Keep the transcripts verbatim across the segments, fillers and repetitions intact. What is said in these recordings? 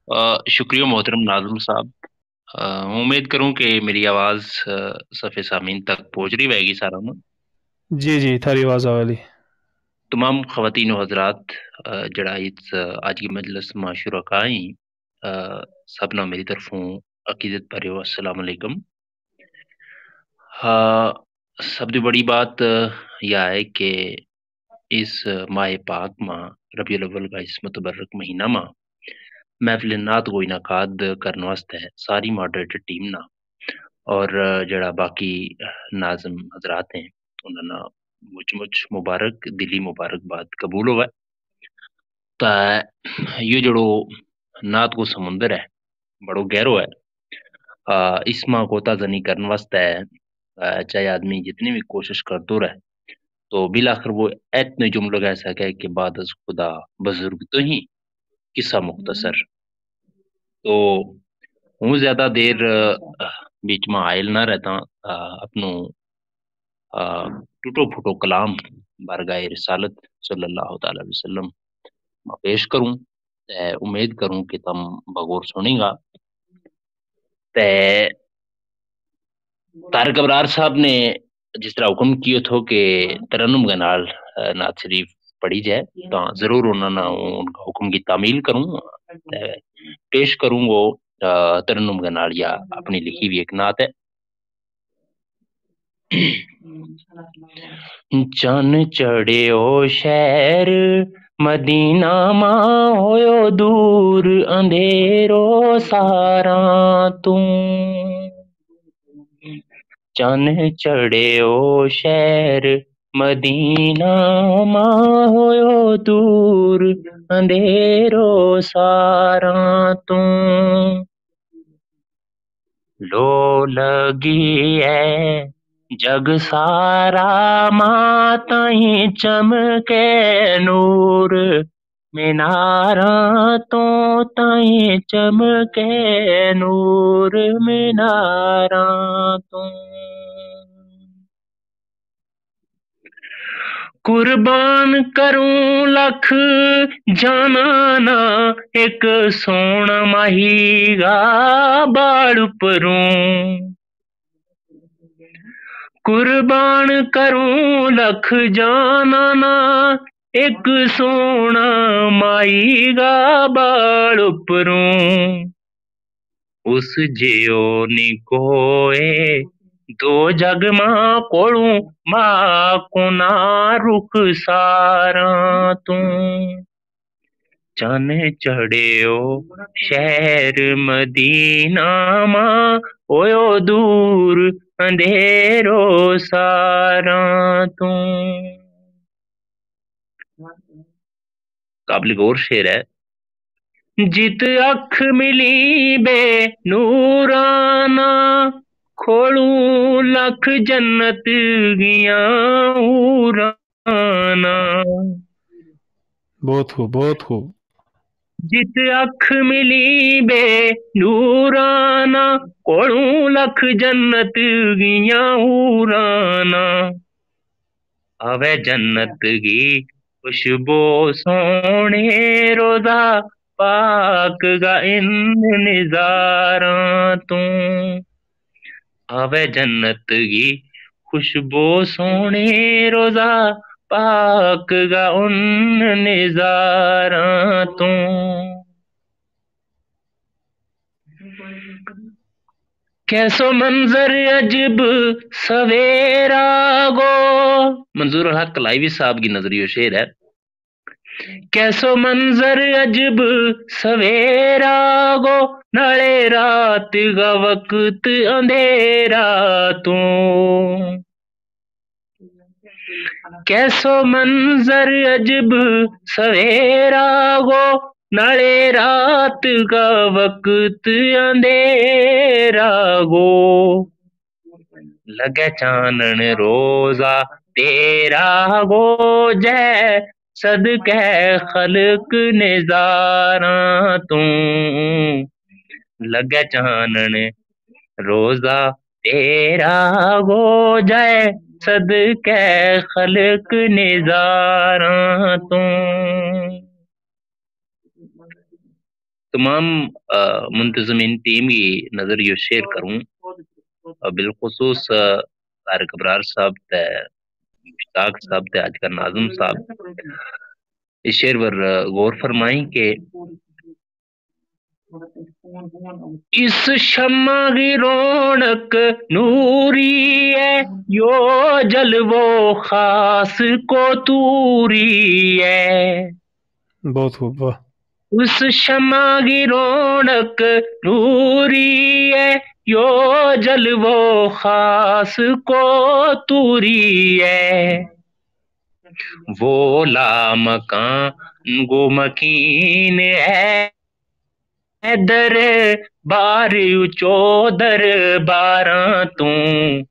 شکریہ محترم ناظم صاحب۔ ہوں امید کروں کہ میری آواز صفحے سامین تک پہنچ رہی ہوئے گی سارا نا؟ جی جی، تھاری آواز آوے لی۔ تمام خواتین و حضرات، جڑا اس آج کی مجلس ما شرکا ہیں، سب نا میری طرفوں عقیدت بھریو السلام علیکم۔ ہاں، سب دی بڑی بات یا ہے کہ اس ماہ پاک ما، ربیع الاول کا اس متبرک مہینہ ما محفل نعت کو انعقاد کرن واسطے ساری ماڈریٹر ٹیم نا اور جڑا باقی ناظم حضرات ہیں، انہاں نا مچ مچ مبارک، دلی مبارکباد قبول ہوئے۔ تا یوہ جڑو نعت کو سمندر ہے، بڑو گہرو ہے۔ اس ما کو تازہ نہیں کرن واسطے چاہے آدمی جتنی بھی کوشش کرتو رہے، تو بالآخر وہ اتنے جملو کہہ سکے کہ بعد از خدا بزرگ تو ہی قصہ مختصر۔ تو ہوں زیادہ دیر بیچ ما آئل نہ رہتا، اپنو ٹوٹو پھوٹو کلام بارگاہ رسالت صلی اللہ تعالی وسلم ما پیش کروں۔ تے امید کروں کہ تم بغور سنیں گا۔ تے طارق ابرار صاحب نے جس طرح حکم کیو تھو کہ ترنم کے نال نعت شریف پڑھی جائے، تو ضرور انہاں نا ان کا حکم کی تعمیل کروں، پیش کروں گو۔ ترنم کے نال یا اپنی لکھی ہوئی ایک نعت ہے۔ چن چڑھیو شہر مدینہ ما، ہویو دور اندھیرو ساراں توں۔ چن چڑھیو شہر مدینہ ما، ہویو دور اندھیرو ساراں توں۔ لو لگی ہے جگ سارا، ما تائیں چمکے نور، میناراں توں تائیں چمکے نور، میناراں توں۔ قربان کروں لکھ جاناں نا، ایک سونا ماہی گا باڑ پروں۔ قربان کروں لکھ جاناں نا، ایک سونا ماہی گا باڑ پروں۔ اس جیو نی کوئے دو جگ ما کولوں، ما کونا رخ ساراں توں۔ چن چڑھیو شہر مدینہ ما، ہویو دور اندھیرو ساراں توں۔ قابل غور شعر ہے۔ جت اکھ ملی بے نورانا، کھولوں لکھ جنت گیاں حورانا۔ بہت خوب، بہت خوب۔ جت اکھ ملی بے نورانا، کھولوں لکھ جنت گیاں حورانا۔ آوے جنت کی خوشبو سوہنے روضہ پاک کا ان نظاراں توں۔ آوے جنت کی خوشبو سوہنے روضہ پاک کا ان نظاراں توں۔ کیسو منظر عجب سویرا گو۔ منظور الحق کلائیوی صاحب کی نظریو شعر ہے۔ کیسو منظر عجب سویرا گو، نالے رات کا وقت اندھیرا توں۔ کیسو منظر عجب سویرا گو، نالے رات کا وقت اندھیرا گو۔ لگے چانن روضہ تیرا گو، جے صدقے خلق نظاراں توں۔ لگے چانن روضہ تیرا گو، جے صدقے خلق نظاراں توں۔ تمام منتظمین ٹیم کی نظر یوہ شعر کروں، بالخصوص طارق ابرار صاحب تے، مشتاق صاحب تے، اج کا ناظم صاحب، اس شعر پر غور فرمائیں کہ اس شمع کی رونق نوری ہے، یوہ جلوو خاص کو توری ہے۔ بہت خوب، واہ۔ اس شمع کی رونق نوری ہے، یوہ جلوو خاص کو توری ہے۔ وہ لامکان گو مکین ہے، در بار اچو در باراں توں۔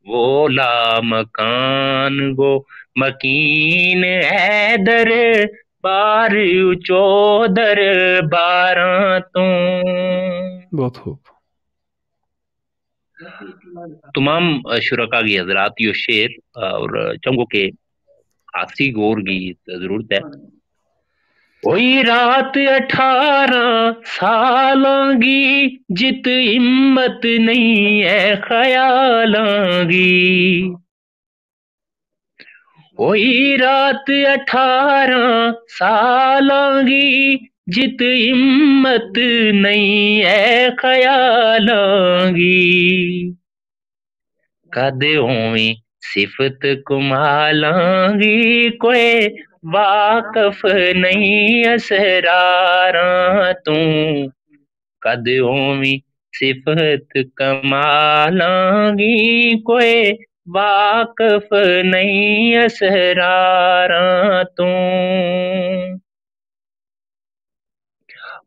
وہ لامکان گو مکین ہے، در بار اچو در باراں توں۔ بہت خوب۔ تمام شرکا کی حضرات، یوہ شعر اور چنگو کے خاصی غور کی ضرورت ہے۔ ہوئی رات اٹھارہ سالاں کی، جت ہمت نہیں ہے خیالاں کی۔ ہوئی رات اٹھارہ سالاں کی، جت ہمت نہیں ہے خیالاں کی۔ کد ہوویں صفت کمالاں کی، کوئی واقف نہیں اسراراں توں۔ کد ہوویں صفت کمالاں کی، کوئی واقف نہیں اسراراں توں۔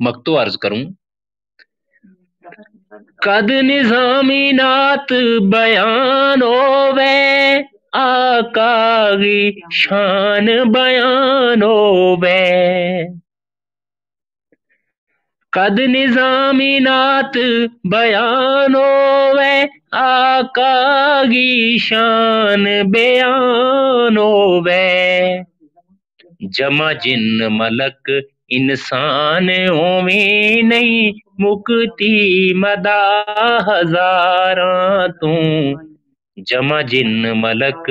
مکتو عرض کروں۔ کد نظامی نعت بیان ہووے، آقا کی شان بیان ہووے۔ کد نظامی نعت بیان ہووے، آقا کی شان بیان ہووے۔ جمع جن ملک انسان ہوویں، نہیں مکتی مدا ہزاراں توں۔ جمع جن ملک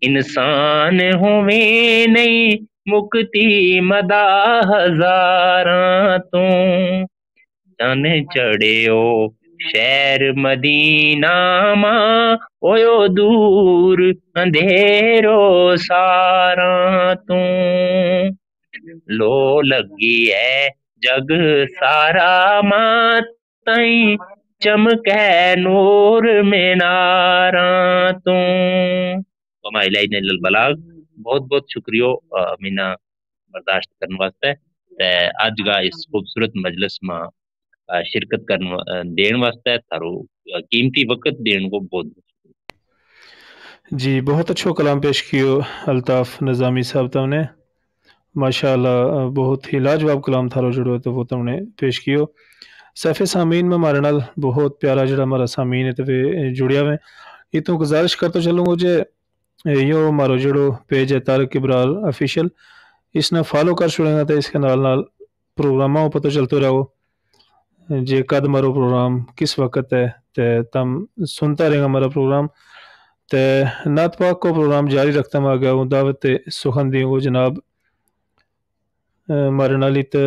انسان ہوویں، نہیں مکتی مدا ہزاراں توں۔ چن چڑھیو شہر مدینہ ما، ہویو دور اندھیرو ساراں توں۔ لو لگی ہے جگ سارا ما، تائیں چمکے نور میناراں توں۔ وما علینا الا البلاغ۔ بہت بہت شکریو، آ، مینا برداشت کرن واسطے تے اج کا اس خوبصورت مجلس ما، آ، شرکت کرن وا-، آ، دین واسطے تھارو، آ، قیمتی وقت دین کو بہت بہت شکریہ۔ جی، بہت اچھو کلام پیش کیو الطاف نظامی صاحب تم نے۔ ماشاءاللہ، بہت ہی لاجواب کلام تھارو جڑو ہے تو وہ تم نے پیش کیو۔ صفحہ سامعین میں ہمارے نال بہت پیارا جڑا ہمارا سامعین ہے تو وہ جڑیا ہوئے۔ یہ تو گزارش کرتا چلوں گا جے یو ہمارو جڑو پیج ہے طارق ابرار آفیشل، اس نے فالو کر چھوڑیں گا تو اس کے نال نال پروگراماں کو پتہ چلتو رہو۔ جے کد مارو پروگرام کس وقت ہے، تے تم سنتا رہیں گا ہمارا پروگرام۔ تے نعت پاک کو پروگرام جاری رکھتا ہوں آگے ہوں دعوت سخن دیوں گو جناب۔ مارے نالی تے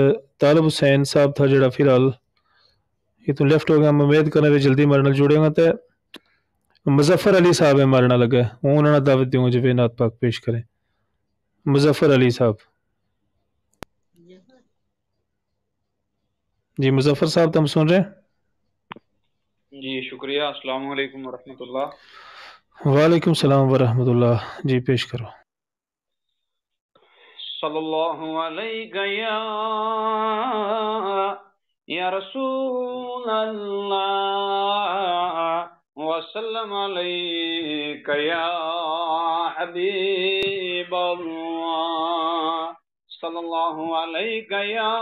طالب حسین صاحب تھا جڑا فی الحال یہ تو لیفٹ ہو گیا، ہم امید کرنے وی جلدی مارے نال جڑیں گا۔ تے مظفر علی صاحب ہے مارے نال لگا، ہوں انہاں نا دعوت دیوں گا جب یہ نعت پاک پیش کریں۔ مظفر علی صاحب۔ جی مظفر صاحب، تم سن رہے ہیں؟ جی شکریہ۔ السلام علیکم ورحمۃ اللہ۔ وعلیکم السلام ورحمۃ اللہ۔ جی پیش کرو۔ صلی اللہ علیک یا، یا رسول اللہ، وسلم علیک یا حبیب اللہ۔ صلی اللہ علیک یا،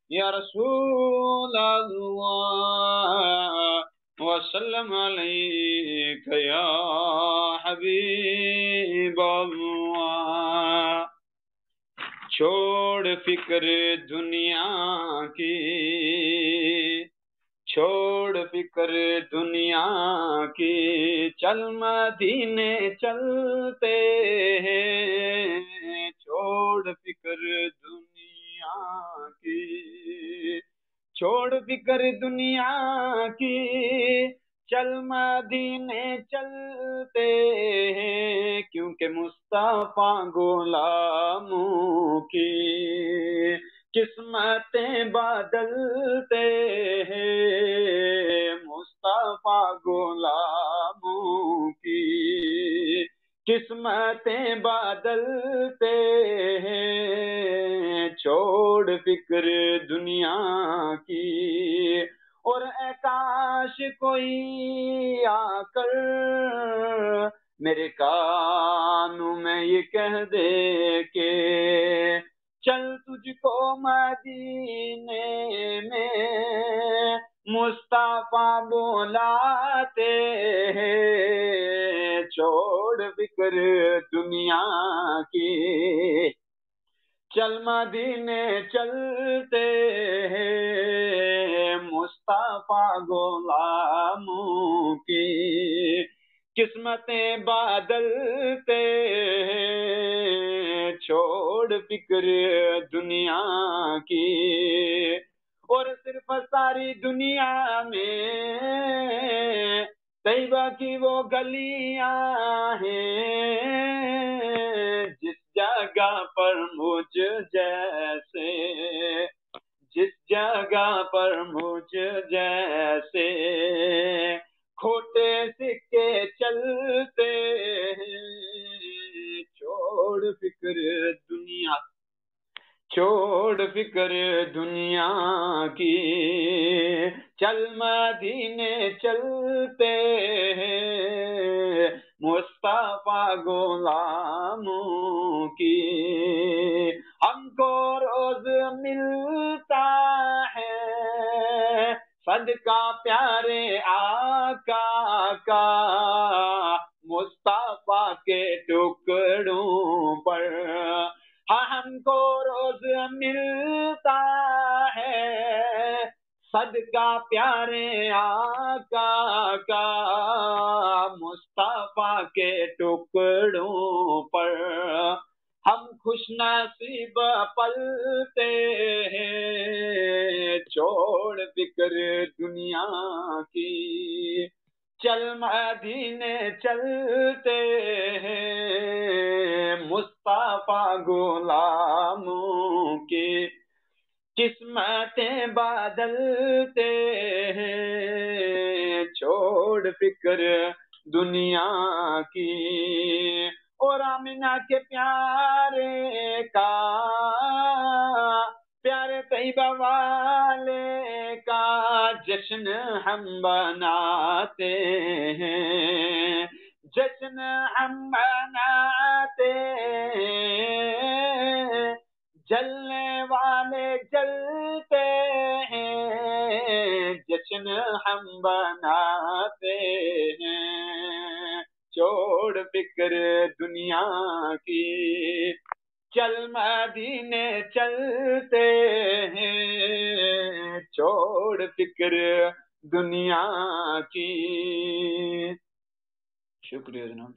یا رسول اللہ، وسلم علیک یا حبیب اللہ۔ چھوڑ فکر دنیا کی، چھوڑ فکر دنیا کی، چل مدینے چلتے ہیں۔ چھوڑ فکر دنیا کی، چھوڑ فکر دنیا کی، چل مدینے چلتے ہیں، کیونکہ مصطفیٰ غلاموں کی قسمتیں بدلتے ہیں، مصطفیٰ غلاموں کی قسمتیں بدلتے ہیں، چھوڑ فکر دنیا کی۔ اور اے کاش کوئی آ کر میرے کانوں میں یہ کہہ دے کہ چل تجھ کو مدینے میں مصطفیٰ بلاتے ہیں، چھوڑ فکر دنیا کی، چل مدینے چلتے ہیں، مصطفیٰ غلاموں کی قسمتیں بدلتے ہیں، چھوڑ فکر دنیا کی۔ اور صرف ساری دنیا میں طیبہ کی وہ گلیاں ہیں، جس جگہ پر مجھ جیسے، جس جگہ پر مجھ جیسے کھوٹے سکے چلتے ہیں، چھوڑ فکر دنیا، چھوڑ فکر دنیا کی، چل مدینے چلتے ہیں، مصطفیٰ غلاموں کی۔ ہم کو روز ملتا ہے صدقہ پیارے آقا کا، مصطفیٰ کے ٹکڑوں پر۔ ہاں، ہم کو روز ملتا ہے صدقہ پیارے آقا کا، مصطفیٰ کے ٹکڑوں پر۔ ہم خوش نصیب پلتے ہیں، چھوڑ فکر دنیا کی، چل مدینے چلتے ہیں، مصطفیٰ غلاموں کی قسمتیں بدلتے ہیں، چھوڑ فکر دنیا کی۔ اور آمنہ کے پیارے کا، پیارے طیبہ والے کا جشن ہم بناتے ہیں، جشن ہم بناتے ہیں، جلنے والے جلتے ہیں، جشن ہم بناتے ہیں، چھوڑ فکر دنیا کی، چل مدینے چلتے ہیں، چھوڑ فکر دنیا کی۔ شکریہ جناب۔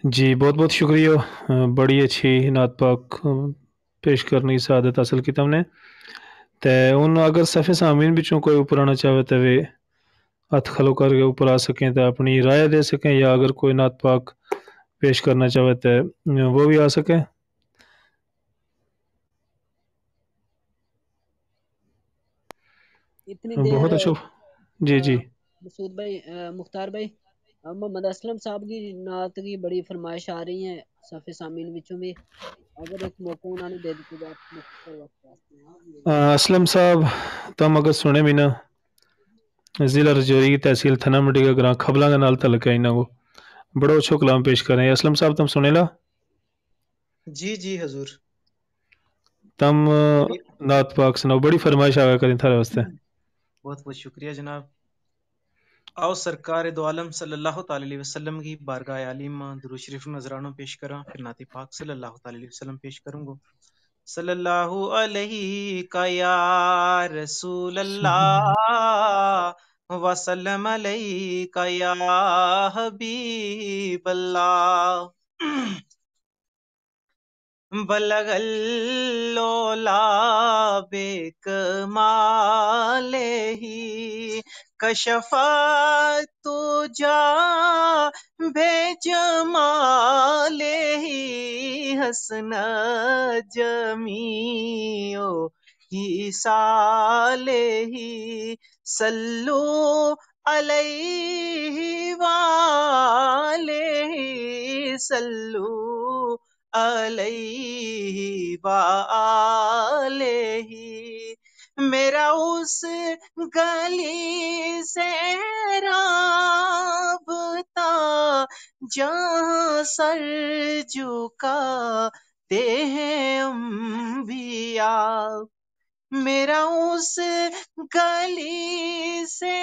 جی، بہت بہت شکریہ۔ بڑی اچھی نعت پاک پیش کرنی سعادت حاصل کی تم نے۔ تے ہن اگر صف سامعین بچوں کوئی اپر آنا چاہوے تے ویہ ہتھ کھلو کر کے اپر آ سکیں تے اپنی رائے دے سکیں، یا اگر کوئی نعت پاک پیش کرنا چاہوے تے وہ بھی آ سکیں۔ اتنی دیر بہت اچھو۔ جی جی۔ مسعود بھائی، مختار بھائی، محمد اسلم صاحب کی نعت کی بڑی فرمائش آ رہی ہے صف سامعین وچوں بھی۔ اگر ایک موقع انہوں نے دے دیتی جائے۔ اسلم صاحب، تم اگر سنے بھی نا، ضلع رجوری کی تحصیل تھنا منڈی کا گراں کھبلاں کے نال تعلق ہے انہاں کو۔ بڑو اچھو کلام پیش کریں۔ اسلم صاحب، تم سنے لا؟ جی جی حضور۔ تم نعت پاک سناؤ، بڑی فرمائش آوے کریں تھارے واسطے۔ بہت بہت شکریہ جناب۔ آؤ سرکار دو عالم صلی اللہ تعالی علیہ وسلم کی بارگاہ عالم درود شریف نذرانو پیش کراں، پھر نعت پاک صلی اللہ تعالی علیہ وسلم پیش کروں گو۔ صلی اللہ علیہ کا یا رسول اللہ، وسلم علیہ کا یا حبیب اللہ۔ بلغ العلا بکمالہ، کشف الدجی بجمالہ، حسنت جمیع خصالہ، صلوا علیہ وآلہ، صلوا علیہ وآلہ۔ میرا اس گلی سے رابطہ جہاں سر جھکاتے ہیں انبیاء۔ میرا اس گلی سے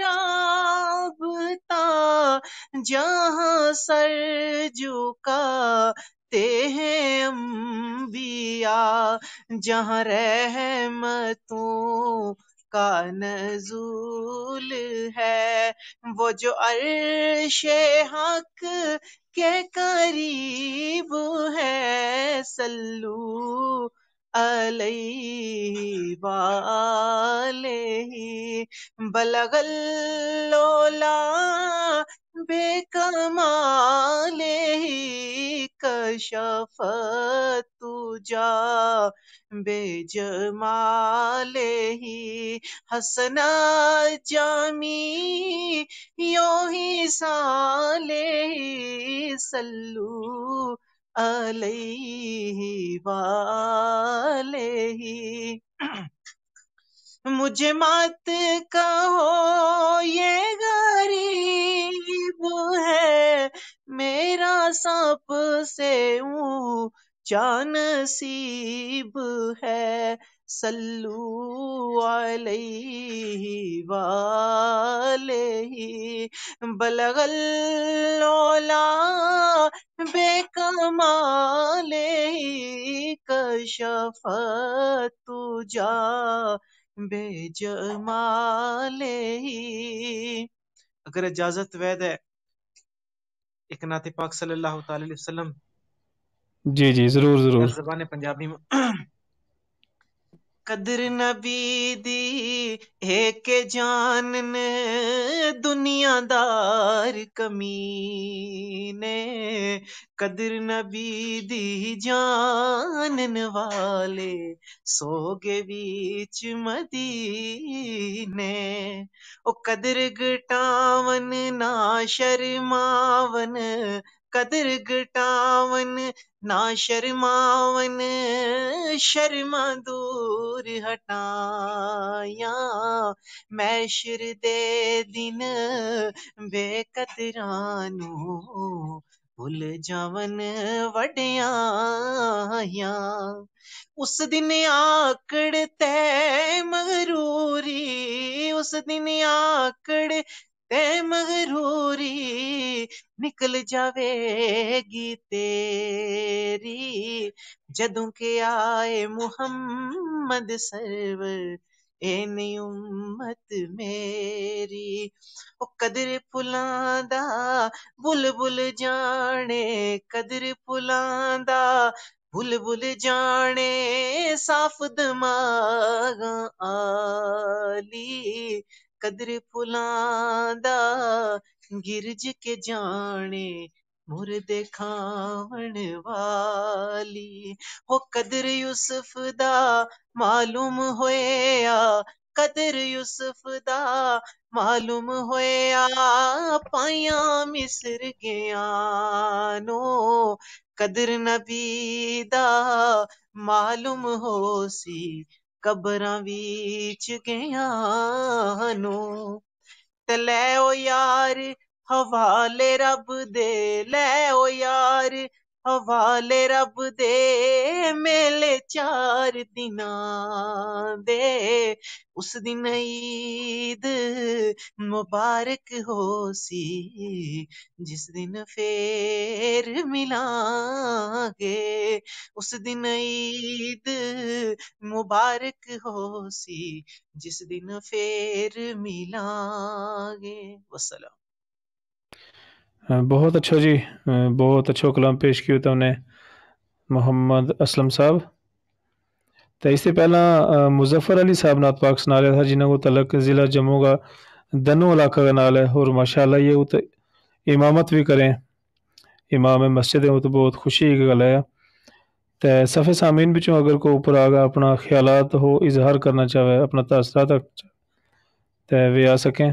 رابطہ جہاں سر جھکاتے ہیں انبیاء، جہاں رحمتوں کا نزول ہے، وہ جو عرش حق کے قریب ہے۔ صلوا علیہ وآلہ، بلغ العلا بکمالہ، کشف الدجی بجمالہ، حسنت جمیع خصالہ، صلوا علیہ وآلہ۔ مجھے مت کہو یہ غریب ہے، میرا سب سے اونچا نصیب ہے۔ صلوا علیہ وآلہ، بلغ العلا بکمالہ، کشف الدجی بجمالہ۔ اگر اجازت وے دے، ایک نعت پاک صلی اللہ تعالی علیہ وسلم۔ جی، جی، ضرور، ضرور۔ زبان پنجابی میں۔ قدر نبی دی ہے کہ جانن دنیا دار کمینے، قدر نبی دی جانن والے سو گے وچ مدینے۔ او قدر گٹاون نہ شرماون، قدر گٹاون نہ شرماون، شرماں دور ہٹایاں۔ محشر دے دن بے قدراں نو بھل جاون وڈیاں۔ اس دن آکڑ تے مغروری، اس دن آکڑ تے مغروری نکل جاوے گی تیری، جدوں کہ آئے محمد سرور، اے نی امت میری۔ او قدر پھلاں دا بلبل جانے، قدر پھلاں دا بلبل جانے، صاف دماغاں آلی۔ قدر پھلاں دا گرج کے جانے، مردے کھاون والی۔ ہو قدر یوسف دا معلوم ہویا، قدر یوسف دا معلوم ہویا، پائیاں مصر گیا نو۔ قدر نبی دا معلوم ہو سی، قبراں وچ گیا نو۔ تے لے او یار حوالے رب دے، لے او یار حوالے رب دے، میلے چار دناں دے۔ اس دن عید مبارک ہو سی، جس دن فیر ملاں گے۔ اس دن عید مبارک ہو سی، جس دن فیر ملاں گے۔ وسلام۔ بہت اچھو جی، بہت اچھو کلام پیش کیو تم نے، محمد اسلم صاحب۔ تے اس تے پہلاں مظفر علی صاحب نات پاک سنا رہیا تھا، جنہاں کو تعلق ضلع جموں کا دنو علاقہ کے نال ہے، اور ماشاءاللہ یہ ات امامت بھی کریں، امام مسجد ہیں، وہ تو بہت خوشی کی گل ہے۔ تے صفِ سامعین بچوں اگر کوئی اوپر آ گیا، اپنا خیالات ہو اظہار کرنا چاہوے، اپنا تاثرات رکھنا چاہوے، تے ویہ آ سکیں۔